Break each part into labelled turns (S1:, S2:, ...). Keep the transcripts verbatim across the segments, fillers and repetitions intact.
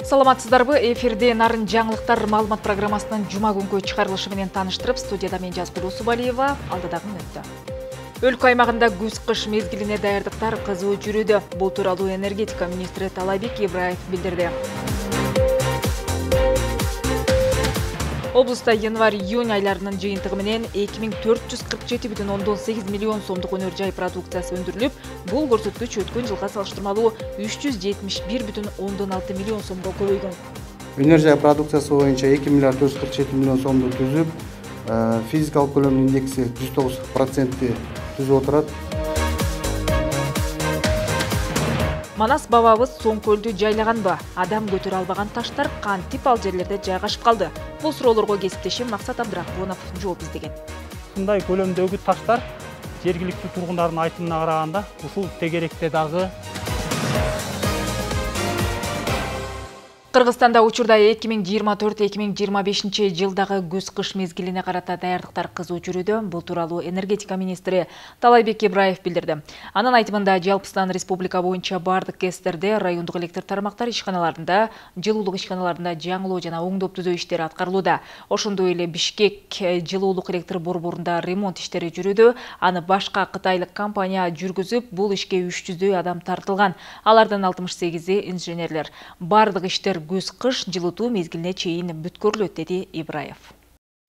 S1: Саламатсыздарбы? Эфирде Нарын жаңылыктар маалымат программасынын жума күнгү чыгарылышы менен тааныштырып, студияда мен Жазгул Усубалиева, алдыдагы мүнөттө. Өлкө аймагында күз-кыш мезгилине даярдыктар кызуу жүрүүдө. Бул тууралуу энергетика министри Талайбек Ибраев билдирди. Облуста январь-июнь айларынын жыйынтыгы менен эки миң төрт жүз кырк жети бүтүн ондон сегиз миллион сомдук өнөр жай продукциясы өндүрүлүп, бул көрсөткүч өткөн жылга салыштырмалуу үч жүз жетимиш бир бүтүн ондон алты миллион сомго көбөйгөн.
S2: Өнөр жай продукциясы боюнча эки миллиард төрт жүз кырк жети миллион сомду түзүп, физикалык көлөм индекси жүз тогуз процентти түзүп отурат.
S1: Манас бабабыз Соң көлдү жайлаганбы? Адам көтөрө албаган таштар кантип ал жерлерде жайгашып калды? Бул суроолорго кесиптешим Максат Абдрахмонов жооп издеген.
S3: Мындай көлөмдөгү таштар жергиликтүү тургундардын айтымына караганда ушул тегеректе дагы.
S1: Кыргызстанда учурда эки миң жыйырма төрт эки миң жыйырма бешинчи жылдагы күз-кыш мезгилине карата даярдыктар кызуу жүрүүдө. Бул тууралуу энергетика министри Талайбек Ибраев билдирди. Анын айтымында жалпыстан республика боюнча бардык КЭСтерде, райондук электр тармактар ишканаларында, жылуулук ишканаларында жаңылоо жана оңдоп түзөө иштери аткарылууда. Ошондой эле Бишкек жылуулук электр борборунда ремонт иштери жүрүүдө. Аны башка кытайлык компания жүргүзүп, бул ишке үч жүздөй адам тартылган. Алардын алтымыш сегизи инженерлер. Бардык иштер күз-кыш жылытуу мезгилине чейин бүткөрүлөт, деди Ибраев.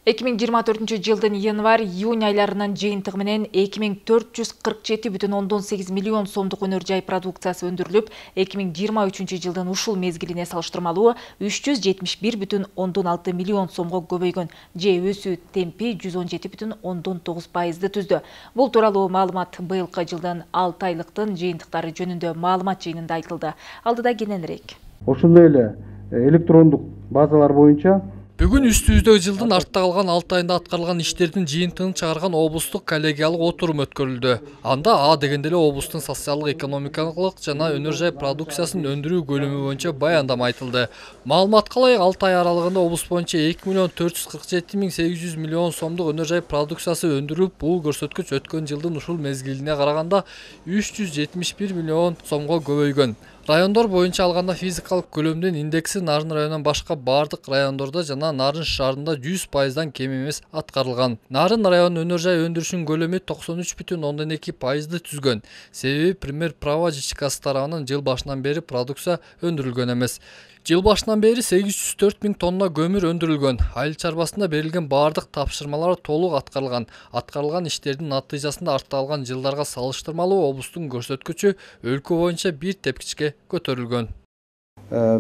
S1: эки миң жыйырма төртүнчү жылдын январь-июнь айларынын жыйынтыгы менен эки миң төрт жүз кырк жети бүтүн ондон сегиз миллион сомдук өнөр жай продукциясы өндүрүлүп, эки миң жыйырма үчүнчү жылдын ушул мезгилине салыштырмалуу үч жүз жетимиш бир бүтүн ондон алты миллион сомго көбөйгөн, же өсүү темпи жүз он жети бүтүн ондон тогуз пайызды түздү. Бул тууралуу маалымат быйылкы жылдын алты айлыктын жыйынтыктары жөнүндө маалымат жыйынында айтылды. Алдыда кененирээк.
S2: Ошондой эле электрондук базалар боюнча
S4: Бүгүн үстүбүздө жылдын артта калган алты айында аткарылган иштердин жыйынтыгын чыгарган облустук коллегиялык отурум өткөрүлдү. Анда А дегенде эле облустун социалдык экономикалык жана өнөр жай продукциясын өндүрүү бөлүмү боюнча баяндама айтылды. Маалыматка ылайык алты ай аралыгында облус боюнча эки миллион төрт жүз кырк жети миң сегиз жүз миллион сомдук өнөр жай продукциясы өндүрүлүп, бул көрсөткүч өткөн жылдын ушул мезгилине караганда үч жүз жетимиш бир миллион сомго көбөйгөн. Райондор боюнча алганда физикалык көлөмдүн индекси Нарын районунан башка бардык райондордо жана Нарын шаарында жүз пайыздан кем эмес аткарылган. Нарын районунун өнөр жай өндүрүшүнүн көлөмү токсон үч бүтүн ондон эки пайызды түзгөн. Себеби Пример Право ЖЧКсы тарабынан жыл башынан бери продукция өндүрүлгөн эмес. Жыл башынан бери сегиз жүз төрт миң тонна көмүр өндүрүлгөн. Айыл чарбасында берилген бардык тапшырмалар толук аткарылган. Аткарылган иштердин натыйжасында артта калган жылдарга салыштырмалуу облустун көрсөткүчү өлкө боюнча бир тепкичке көтөрүлгөн.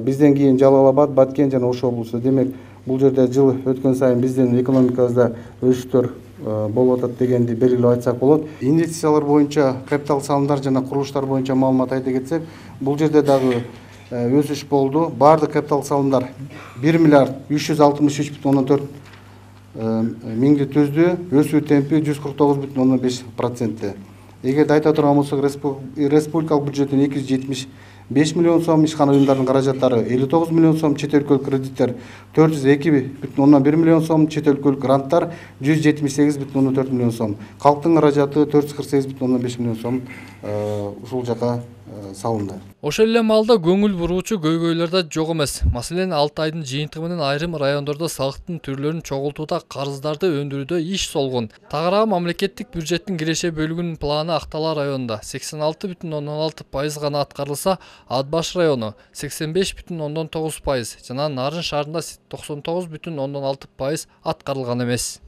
S2: Бизден кийин Жалал Абад, Баткен жана Ош облусу. Демек, бул жерде жыл өткөн сайын биздин экономикабызда өсүштөр болуп атат дегенди белгилеп айтсак болот. Инвестициялар боюнча, капитал салымдар жана курулуштар боюнча маалымат айта кетсек, бул жерде дагы өсүш болду. Бардык капитал салымдар бир миллиард үч жүз алтымыш үч бүтүн ондон төрт миңди түздү. Өсүү темпи жүз кырк тогуз бүтүн ондон беш процентте. Эгерде айта турган болсок, республикалык бюджеттен эки жүз жетимиш беш миллион сом, ишкана уюмдардын каражаттары элүү тогуз миллион сом, чет өлкөлүк кредиттер төрт жүз эки бүтүн ондон бир миллион сом, чет өлкөлүк гранттар жүз жетимиш сегиз бүтүн ондон төрт миллион сом. Калктын каражаты төрт жүз кырк сегиз бүтүн ондон беш миллион сом ушул жака салынды.
S4: Ошол эле маалда көңүл буруучу көйгөйлөр да жок эмес. Маселен, алты айдын жыйынтыгы менен айрым райондордо салыктын түрлөрүн чогултууда, карыздарды өндүрүүдө иш солгон. Тагыраагы мамлекеттик бюджеттин киреше бөлүгүнүн планы Актала районунда сексен алты бүтүн ондон алты пайыз гана аткарылса, Ат баш району сексен беш бүтүн ондон тогуз пайыз жана Нарын шаарында токсон тогуз бүтүн ондон алты пайыз аткарылган эмес.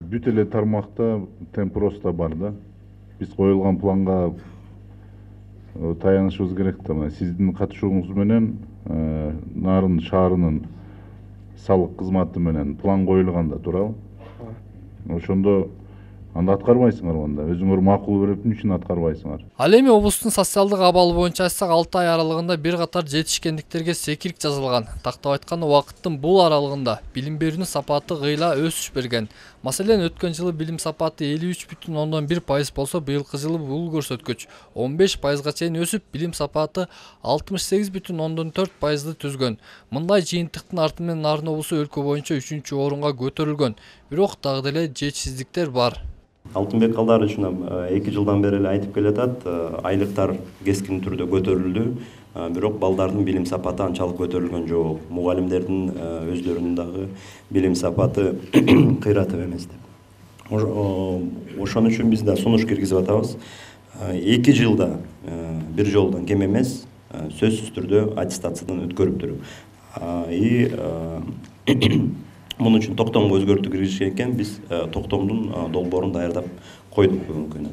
S5: Бүт эле тармакта темп роста бар да. Биз коюлган планга таянышыбыз керек да. Сиздин катышууңуз менен Нарын шаарынын салык кызматы менен план коюлган да, туурабы? Ошондо анда аткарбайсыңар анда. Өзүңөр макул көрүп эмне үчүн аткарбайсыңар?
S4: Ал эми облустун социалдык абалы боюнча айтсак, алты ай аралыгында бир катар жетишкендиктерге секирик жазылган. Тактап айтканда, убакыттын бул аралыгында билим берүүнүн сапаты гыйла өсүш берген. Маселен, өткөн жылы билим сапаты элүү үч бүтүн ондон бир пайыз болсо, быйылкы жылы бул көрсөткүч он беш пайызга чейин өсүп, билим сапаты алтымыш сегиз бүтүн ондон төрт пайызды түзгөн. Мындай жыйынтыктын арты менен Нарын облусу өлкө боюнча үчүнчү орунга көтөрүлгөн. Бирок дагы деле жетишсиздиктер бар.
S6: Алтынбек Калдарович эки жылдан бери эле айтып келатат, айлыктар кескин түрдө көтөрүлдү. бирок балдардын билим сапаты анчалык көтөрүлгөн жок. Мугалимдердин өздөрүнүн дагы билим сапаты кыйратып эмес деп. Ошон үчүн биз да сунуш киргизип атабыз. эки жылда бир жолдон кем эмес, сөзсүз түрдө аттестациядан өткөрүптүр. И мунун үчүн токтомго өзгөртүү киргизишкен экен, биз токтомдун долбоорун даярдап койдук бүгүнкү күнү.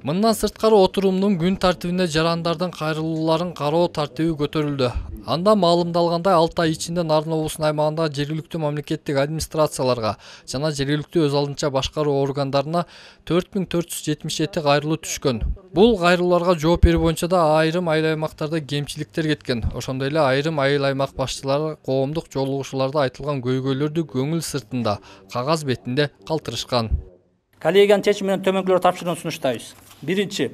S4: Мындан сырткары отурумдун күн тартибине жарандардын кайрылууларын кароо тартиби көтөрүлдү. Анда маалымдалгандай алты ай ичинде Нарын облусунун аймагындагы жергиликтүү мамлекеттик администрацияларга жана жергиликтүү өз алдынча башкаруу органдарына төрт миң төрт жүз жетимиш жети кайрылуу түшкөн. Бул кайрылууларга жооп берүү боюнча да айрым айыл аймактарда кемчиликтер кеткен. Ошондой эле айрым айыл аймак башчылары коомдук жолугушууларда айтылган көйгөйлөрдү көңүл сыртында, кагаз бетинде калтырышкан.
S7: Коллегиянын чечими менен төмөнкүлөр тапшырууну сунуштайбыз. Биринчи,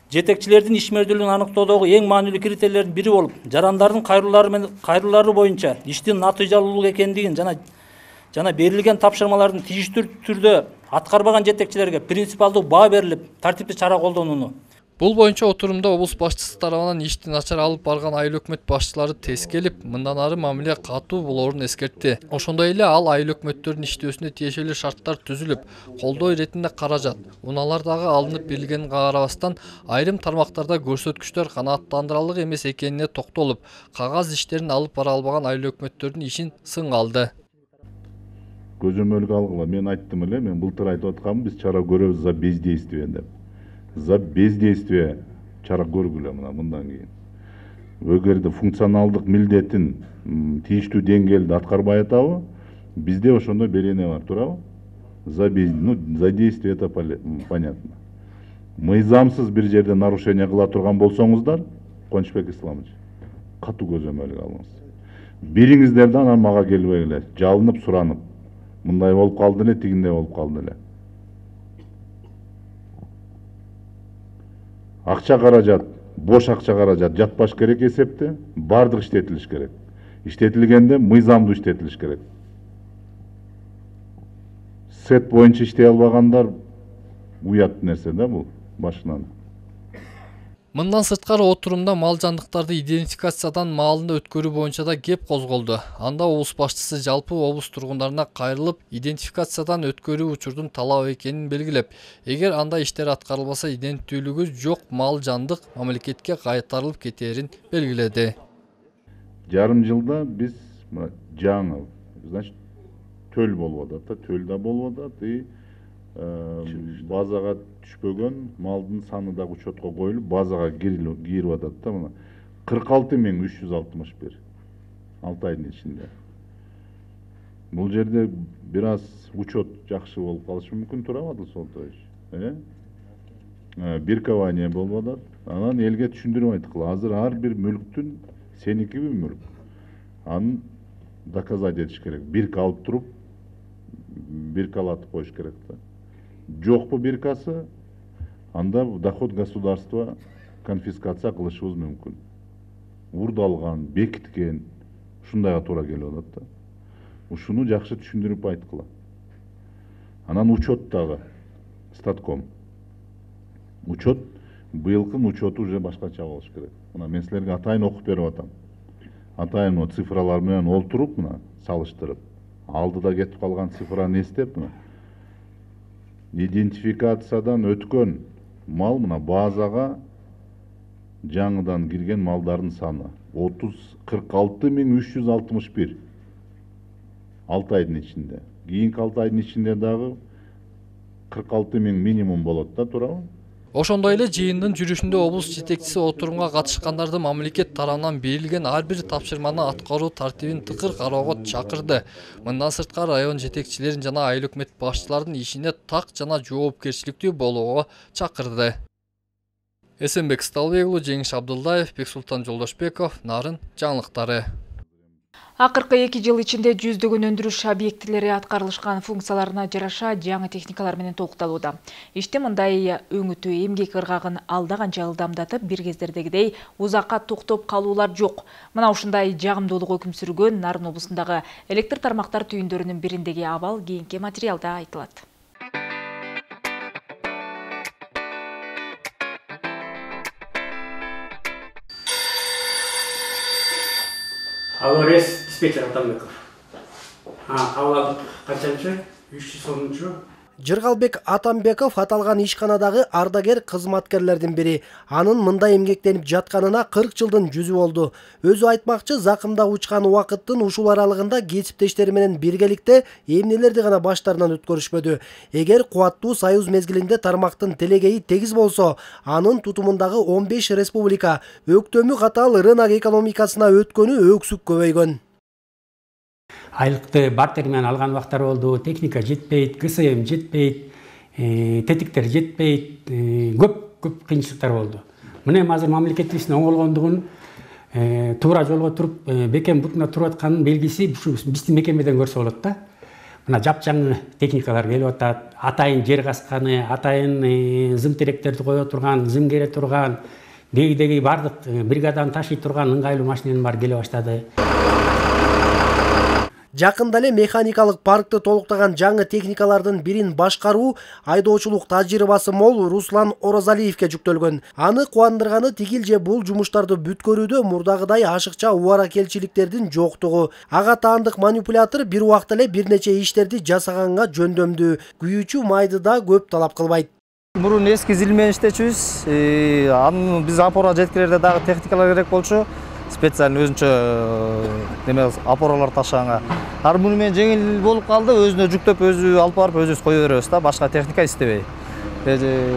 S7: жетекчилердин ишмердүүлүгүн аныктоодогу эң маанилүү критерийлердин бири болуп, жарандардын кайрылуулары менен кайрылуулары боюнча иштин натыйжалуулук экендигин жана жана берилген тапшырмалардын тийиштүү түрдө аткарбаган жетекчилерге принципиалдуу баа берилип, тартиптүү чара колдонууну.
S4: Бул боюнча отурумда облус башчысы тарабынан ишти начар алып барган айыл өкмөт башчылары тескелип, мындан ары мамиле катуу болоорун эскертти. Ошондой эле ал айыл өкмөттөрдүн иштөөсүнө тиешелүү шарттар түзүлүп, колдоо иретинде каражат, унаалар дагы алынып берилгенине карабастан, айрым тармактарда көрсөткүчтөр канааттандырарлык эмес экенине токтолуп, кагаз иштерин алып бара албаган айыл өкмөттөрдүн ишин сынга алды.
S5: Көзөмөлгө алгыла, мен айттым эле, мен былтыр айтып атканмын, биз чара көрөбүз за бездействие деп. За бездействие чара көргүлө мына мындан кийин. Эгерде функционалдык милдетин тийиштүү деңгээлде аткарбай атабы, бизде ошондой берене бар, туурабы? За без, ну, за действие это понятно. Мыйзамсыз бир жерде нарушение кыла турган болсоңуздар, Кубанычбек Исламович, катуу көзөмөлгө алыңыз. Бириңиздерден анан мага келбегиле, жалынып суранып, мындай болуп калды эле, тигиндей болуп калды эле. Акча каражат, бош акча каражат жатпаш керек эсепте, бардык иштетилиш керек. Иштетилгенде мыйзамдуу иштетилиш керек. Сет боюнча иштей албагандар уят нерсе да бул башынан.
S4: Мындан сырткары отурумда мал жандыктарды идентификациядан маалында өткөрүү боюнча да кеп козголду. Анда облус башчысы жалпы облус тургундарына кайрылып, идентификациядан өткөрүү учурдун талап экенин белгилеп, эгер анда иштер аткарылбаса иденттүүлүгү жок мал жандык мамлекетке кайтарылып кетерин белгиледи.
S5: Жарым жылда биз жаңы, значит, төл болуп атат, төл да болуп атат и базага түшпөгөн малдын саны да учетко коюлуп, базага кирип атат да мына кырк алты миң үч жүз алтымыш бир. алты айдын ичинде. Бул жерде бир аз учет жакшы болуп калышы мүмкүн, туурабы Адыл Солтоевич? Э? Биркование болуп атат. Анан элге түшүндүрүп айткыла. Азыр ар бир мүлктүн сеникиби мүлк. Аны доказать этиш керек. Бирка алып туруп, биркалатып коюш керек да. Жокпу биркасы, анда доход государства конфискация кылышыбыз мүмкүн. Урдалган, бекиткен, ушундайга туура келип атат да. Ушуну жакшы түшүндүрүп айткыла. Анан учет дагы, статком. Учет, быйылкын учету уже башкача болуш керек. Мына мен силерге атайын окуп берип атам. Атайын цифралар менен олтуруп, мына салыштырып, алдыда кетип калган цифраны эстеп, мына идентификациядан өткөн мал мына базага жаңыдан кирген малдардын саны кырк алты миң үч жүз алтымыш бир. алты айдын ичинде. Кийинки алты айдын ичинде дагы кырк алты миң минимум болот да, туурабы?
S4: Ошондой эле жыйындын жүрүшүндө облус жетекчиси отурумга катышкандарды мамлекет тарабынан берилген ар бир тапшырманы аткаруу тартибин тыкыр кароого чакырды. Мындан сырткары район жетекчилерин жана айыл өкмөт башчылардын ишине так жана жоопкерчиликтүү болууга чакырды. Эсенбек Сталбек уулу, Жеңиш Абдулдаев, Бексултан Жолдошбеков, Нарын жаңылыктары.
S1: Акыркы эки жыл ичинде жүздөгөн өндүрүш объектилери аткарылышкан функцияларына жараша жаңы техникалар менен толукталууда. Ишти мындай өңүтүү эмгек ыргагын алда канча ылдамдатып, бир кездердегидей узакка токтоп калуулар жок. Мына ушундай жагымдуулук өкүм сүргөн Нарын облусундагы электр тармактар түйүндөрүнүн бириндеги абал кийинки материалда айтылат.
S8: Аварес диспетчер Атамбеков. Кабыл алдык канчанчы? үч жүз онунчу.
S9: Жыргалбек Атамбеков аталган ишканадагы ардагер кызматкерлердин бири. Анын мындай эмгектенип жатканына кырк жылдын жүзү болду. Өзү айтмакчы, закымда учкан убакыттын ушул аралыгында кесиптештери менен биргеликте эмнелерди гана баштарынан өткөрүшпөдү. Эгер кубаттуу союз мезгилинде тармактын телегейи тегиз болсо, анын тутумундагы он беш республика өктөмү катал рынок экономикасына өткөнү өксүк көбөйгөн.
S8: Айлыкты бартер менен алган убактар болду, техника жетпейт, КСМ жетпейт, тетиктер жетпейт, көп-көп кыйынчылыктар болду. Мына эми азыр мамлекетибиздин оңолгондугун, туура жолго туруп, бекем бутуна туруп атканын белгиси ушу биздин мекемеден көрсө болот да. Мына жапжаңы техникалар келип атат, атайын жер касканы, атайын зым теректерди кое турган, зым кере турган, деги-деги бардык бригаданы ташый турган ыңгайлуу машиненин баары келе баштады.
S9: Жакында эле механикалык паркты толуктаган жаңы техникалардын бирин башкаруу айдоочулук тажрыйбасы мол Руслан Орозалиевке жүктөлгөн. Аны кубандырганы тигил же бул жумуштарды бүткөрүүдө мурдагыдай ашыкча убаракелчиликтердин жоктугу. Ага таандык манипулятор бир убакта эле бир нече иштерди жасаганга жөндөмдүү. Күйүүчү майды да көп талап кылбайт.
S10: Мурун эски зил менен иштечүбүз. Анын биз опора жеткирерде дагы техникалар керек болчу. Специально өзүнчө неме опоралар ташыганга. Ар муну менен жеңил болуп калды, өзүнө жүктөп өзү алып барып өзүбүз кое беребиз да, башка техника иштебей.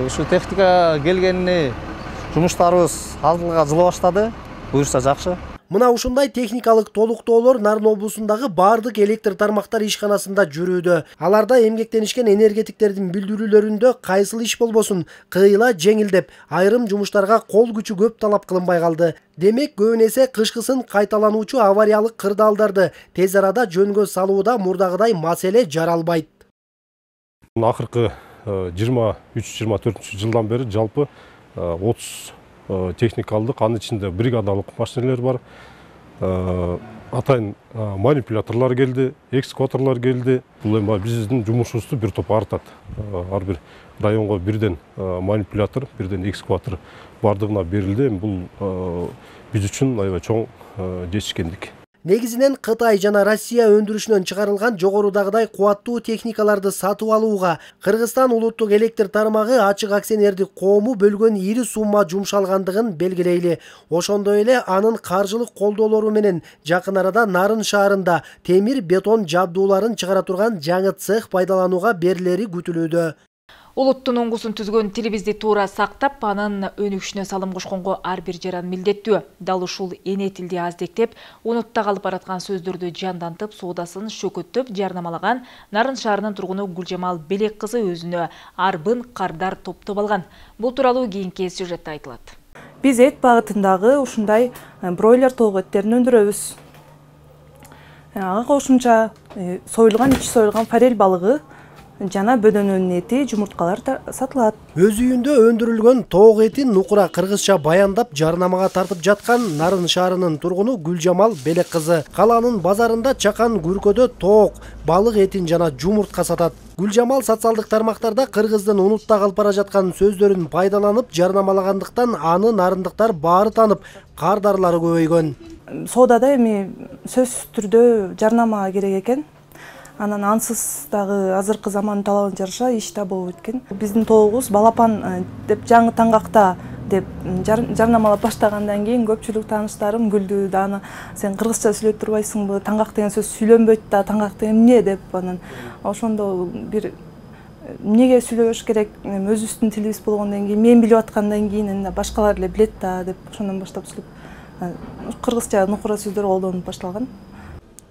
S10: Ушу техника келгенине жумуштарыбыз алдыга жыла баштады. Буюрса жакшы.
S9: Мына ушундай техникалык толуктоолор Нарын облусундагы бардык электр тармактар ишканасында жүрүүдө. Аларда эмгектенишкен энергетиктердин билдирүүлөрүндө кайсыл иш болбосун кыйла жеңил деп айрым жумуштарга кол күчү көп талап кылынбай калды. Демек көбүн эсе кышкысын кайталануучу авариялык кырдаалдарды тез арада жөнгө салууда мурдагыдай маселе жаралбайт.
S11: Акыркы жыйырма үч жыйырма төртүнчү жылдан бери жалпы отуз техникалдык, анын ичинде бригадалык машинелер бар. Атайын манипуляторлор келди, экскаваторлор келди. Бул эми биздин жумушубузду бир топ артат. Ар бир районго бирден манипулятор, бирден экскаватор бардыгына берилди. Бул биз үчүн аябай чоң жетишкендик.
S9: Негизинен Кытай жана Россия өндүрүшүнөн чыгарылган жогорудагыдай кубаттуу техникаларды сатып алууга Кыргызстан улуттук электр тармагы ачык акционердик коому бөлгөн ири сумма жумшалгандыгын белгилейли. Ошондой эле анын каржылык колдоолору менен жакын арада Нарын шаарында темир бетон жабдууларын чыгара турган жаңы цех пайдаланууга берилери күтүлүүдө.
S1: Улуттун оңгусун түзгөн тилибизди туура сактап, анын өнүгүшүнө салым кошконго ар бир жаран милдеттүү. Дал ушул эне тилди аздектеп, унутта калып бараткан сөздөрдү жандантып, соодасын шөкөттөп жарнамалаган Нарын шаарынын тургуну Гүлжамал Белек кызы өзүнө арбын кардар топтоп алган. Бул тууралуу кийинки сюжетте айтылат.
S12: Биз эт багытындагы ушундай бройлер тоок эттерин өндүрөбүз. Ага кошумча союлган, ичи союлган форель балыгы жана бөдөнөнүн эти, жумурткалар сатылат.
S9: Өз үйүндө өндүрүлгөн тоок этин нукура кыргызча баяндап жарнамага тартып жаткан Нарын шаарынын тургуну Гүлжамал Белек кызы каланын базарында чакан күркөдө тоок, балык этин жана жумуртка сатат. Гүлжамал социалдык тармактарда кыргыздын унутта калып бара жаткан сөздөрүн пайдаланып жарнамалагандыктан аны нарындыктар баары танып, кардарлары көбөйгөн.
S12: Соодада эми сөзсүз түрдө жарнама керек экен. Анан ансыз дагы азыркы замандын талабына жараша иш да болуп өткөн. Биздин тоогубуз балапан деп жаңы таңгакта деп жарнамалап баштагандан кийин көпчүлүк тааныштарым күлдү да, аны сен кыргызча сүйлөп турбайсыңбы, таңгак деген сөз сүйлөнбөйт да, таңгак деген эмне деп. Анан ошондо бир эмнеге сүйлөбөш керек, өзүбүздүн тилибиз болгондон кийин, мен билип аткандан кийин башкалар эле билет да деп ошондон баштап сүйлөп кыргызча нукура сөздөр колдонуп башталган.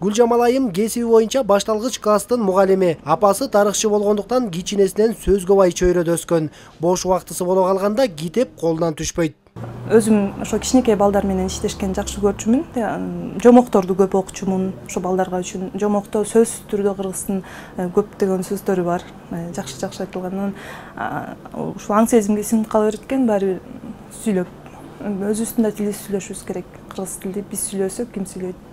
S9: Гүлжамал айым кесиби боюнча башталгыч класстын мугалими. Апасы тарыхчы болгондуктан кичинесинен сөз көбай чөйрөдө өскөн. Бош убактысы боло калганда китеп колунан түшпөйт.
S12: Өзүм ошо кичинекей балдар менен иштешкен жакшы көрчүмүн. Жомокторду көп окучумун. Ошо балдарга үчүн жомокто сөзсүз түрдө кыргыздын көптөгөн сөздөрү бар. Жакшы-жакшы айтылган. Ушул аң сезимге сиңип кала берет экен, баары сүйлөп. Өзүбүздүн да тилибизди сүйлөшүбүз керек. Кыргыз тилди биз сүйлөсөк, ким сүйлөйт?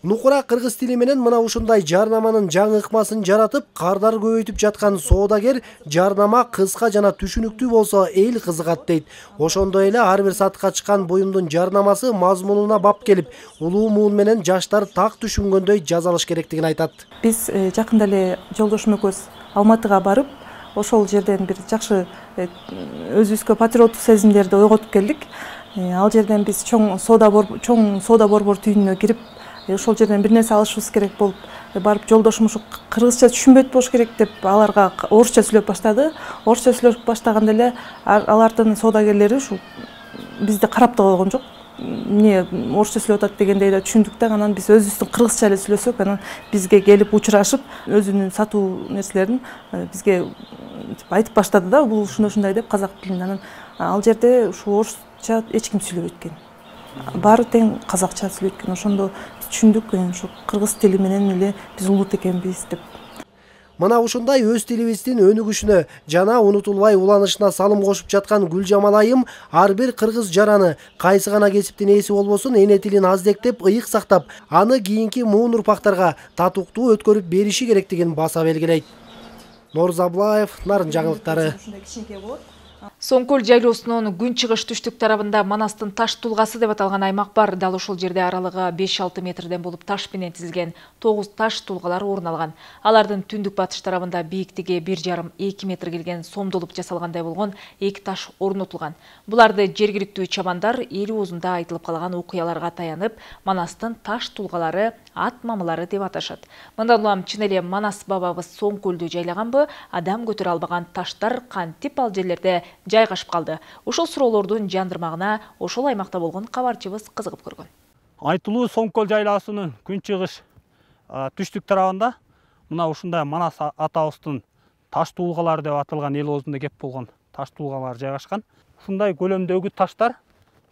S9: Нукура кыргыз тили менен мына ушундай жарнаманын жаңы ыкмасын жаратып, кардар көбөйтүп жаткан соодагер жарнама кыска жана түшүнүктүү болсо эл кызыгат дейт. Ошондой эле ар бир сатыкка чыккан буюмдун жарнамасы мазмунуна бап келип, улуу муун менен жаштар так түшүнгөндөй жазалыш керектигин айтат.
S12: Биз жакында эле жолдошум экөөбүз Алматыга барып, ошол жерден бир жакшы өзүбүзгө патриоттук сезимдерди ойготуп келдик. Ал жерден биз чоң соода чоң соода борбор түйүнүнө кирип, ошол жерден бир нерсе алышыбыз керек болуп барып, жолдошум ушу кыргызча түшүнбөйт болуш керек деп аларга орусча сүйлөп баштады. Орусча сүйлөп баштаганда эле алардын соодагерлери ушу бизди карап да койгон жок. Эмне орусча сүйлөп атат дегендей да түшүндүк да, анан биз өзүбүздүн кыргызча эле сүйлөсөк, анан бизге келип учурашып, өзүнүн сатуу нерселерин бизге айтып баштады да, бул ушундай ушундай деп казак тилинде. Анан ал жерде ушу орусча эч ким сүйлөбөйт экен. Баары тең казакча сүйлөйт экен. Ошондо түшүндүк, ушу кыргыз тили менен эле биз улут экенбиз деп.
S9: Мына ушундай өз тилибиздин өнүгүшүнө жана унутулбай уланышына салым кошуп жаткан Гүлжамал айым ар бир кыргыз жараны кайсы гана кесиптин ээси болбосун эне тилин аздектеп, ыйык сактап, аны кийинки муун урпактарга татыктуу өткөрүп бериши керектигин баса белгилейт. Норз Аблаев, Нарын жаңылыктары.
S1: Соңкөл жайлоосунун күн чыгыш түштүк тарабында Манастын таш тулгасы деп аталган аймак бар. Дал ошол жерде аралыгы беш алты метрден болуп таш менен тизилген тогуз таш тулгалар орун алган. Алардын түндүк батыш тарабында бийиктиги бир жарым эки метр келген сомдолуп жасалгандай болгон эки таш орнотулган. Буларды жергиликтүү чабандар эл оозунда айтылып калган окуяларга таянып, Манастын таш тулгалары, ат мамылары деп аташат. Мындан улам чын эле Манас бабабыз Соңкөлдү жайлаганбы, адам көтөрө албаган таштар кантип ал жерлерде жайгашып калды? Ошол суроолордун жандырмагына ошол аймакта болгон кабарчыбыз кызыгып көргөн.
S3: Айтылуу Соңкөл жайлаасынын күн чыгыш түштүк тарабында мына ушундай Манас атабыздын таш туулгалары деп аталган эл оозунда кеп болгон таш туулгалар жайгашкан. Ушундай көлөмдөгү таштар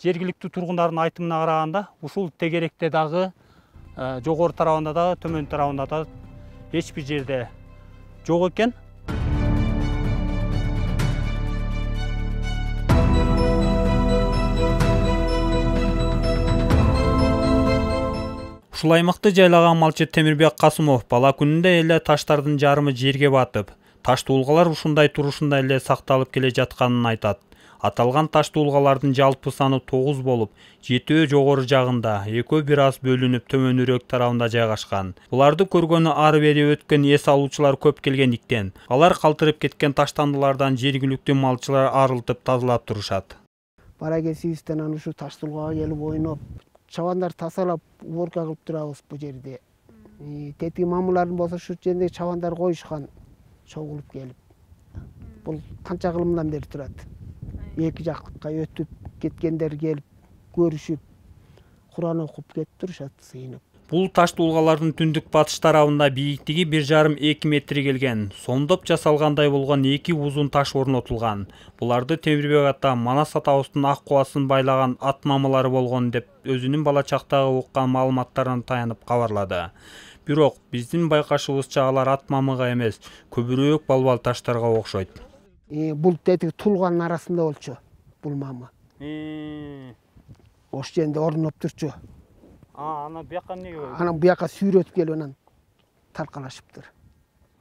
S3: жергиликтүү тургундардын айтымына караганда ушул тегеректе дагы, жогору тарабында дагы, төмөн тарабында дагы эч бир жерде жок экен. Ушул аймакты жайлаган малчы Темирбек Касымов бала күнүндө эле таштардын жарымы жерге батып, таш туулгалар ушундай турушунда эле сакталып келе жатканын айтат. Аталган таш туулгалардын жалпы саны тогуз болуп, жетөө жогору жагында, экөө бир аз бөлүнүп төмөнүрөөк тарабында жайгашкан. Буларды көргөнү ары бери өткөн эс алуучулар көп келгендиктен, алар калтырып кеткен таштандылардан жергиликтүү малчылар арылтып тазалап турушат.
S13: Бара кесибизден аны ушу таш туулгага келип ойноп, чабандар тазалап, уборка кылып турабыз бу жерде. Тетиги мамулардын болсо ушу жерде чабандар коюшкан, чогулуп келип. Бул канча кылымдан бери турат. Эки жактыкка өтүп кеткендер келип көрүшүп, Куран окуп кетип турушат сыйынып.
S3: Бул таш туулгалардын түндүк батыш тарабында бийиктиги бир жарым эки метр келген, сомдоп жасалгандай болгон эки узун таш орнотулган. Буларды Темирбек ата Манас атабыздын ак кубасын байлаган ат мамылары болгон деп өзүнүн бала чактагы уккан маалыматтарына таянып кабарлады. Бирок биздин байкашыбызча алар ат мамыга эмес, көбүрөөк балбал таштарга окшойт.
S13: Бул тетиги тулганын арасында болчу, бул мамы. Ош жеринде орноп турчу.
S3: А, ана бияка эмнеге?
S13: Анан бияка сүйрөтүп келип анан таркалашыптыр.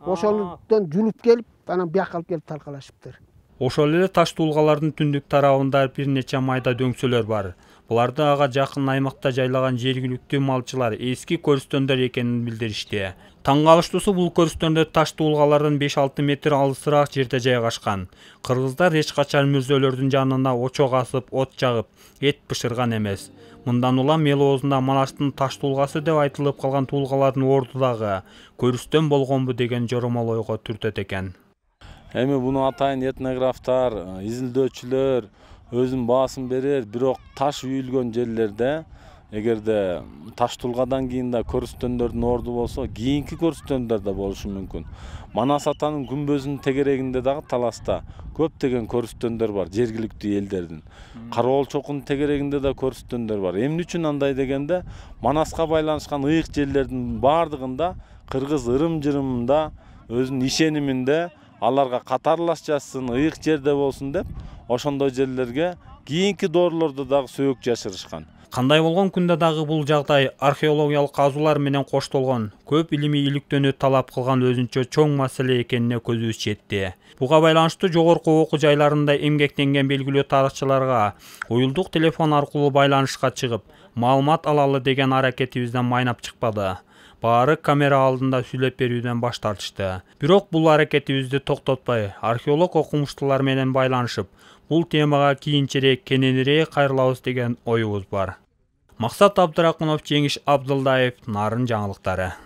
S13: Ошондон жулуп келип, анан бияка алып келип таркалашыптыр.
S3: Ошол эле таш туулгалардын түндүк тарабында бир нече майда дөңсөлөр бар. Буларды ага жакын аймакта жайлаган жергиликтүү малчылар эски көрүстөндөр экенин билдиришти. Таң калыштуусу бул көрүстөндөр таш туулгалардан беш алты метр алысыраак жерде жайгашкан. Кыргыздар эч качан мүрзөлөрдүн жанына очок асып, от жагып, эт бышырган эмес. Мындан улам эл оозунда Манастын таш туулгасы деп айтылып калган туулгалардын орду дагы көрүстөн болгонбу деген жоромол ойго түртөт экен.
S14: Эми буну атайын этнографтар, изилдөөчүлөр өзүнүн баасын берер, бирок таш үйүлгөн жерлерде эгерде таш тулгадан кийин да көрүстөндөрдүн орду болсо, кийинки көрүстөндөр да болушу мүмкүн. Манас атанын күмбөзүнүн тегерегинде дагы таласта көптөгөн көрүстөндөр бар, жергиликтүү элдердин. Карабол чокунун тегерегинде да көрүстөндөр бар. Эмне үчүн андай дегенде, Манаска байланышкан ыйык жерлердин баардыгында кыргыз ырым-жырымында өзүнүн ишениминде аларга катарлаш жатсын, ыйык жерде болсун деп, ошондой жерлерге кийинки доорлордо дагы сөөк жашырышкан.
S3: Кандай болгон күндө дагы бул жагдай археологиялык казуулар менен коштолгон, көп илимий иликтөөнү талап кылган өзүнчө чоң маселе экенине көзүбүз жетти. Буга байланыштуу жогорку окуу жайларында эмгектенген белгилүү тарыхчыларга уюлдук телефон аркылуу байланышка чыгып, маалымат алалы деген аракетибизден майнап чыкпады. Баары камера алдында сүйлөп берүүдөн баш тартышты. Бирок бул аракетибизди токтотпой, археолог окумуштуулар менен байланышып, бул темага кийинчерээк кененирээк кайрылабыз деген оюбуз бар. Максат Абдракунов, Жеңиш Абдылдаев, Нарын жаңылыктары.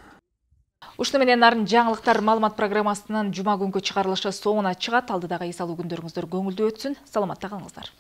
S1: Ушуну менен Нарын жаңылыктар маалымат программасынын жума күнгү чыгарылышы соңуна чыгат. Алдыдагы эс алуу күндөрүңүздөр көңүлдүү өтсүн. Саламатта калыңыздар.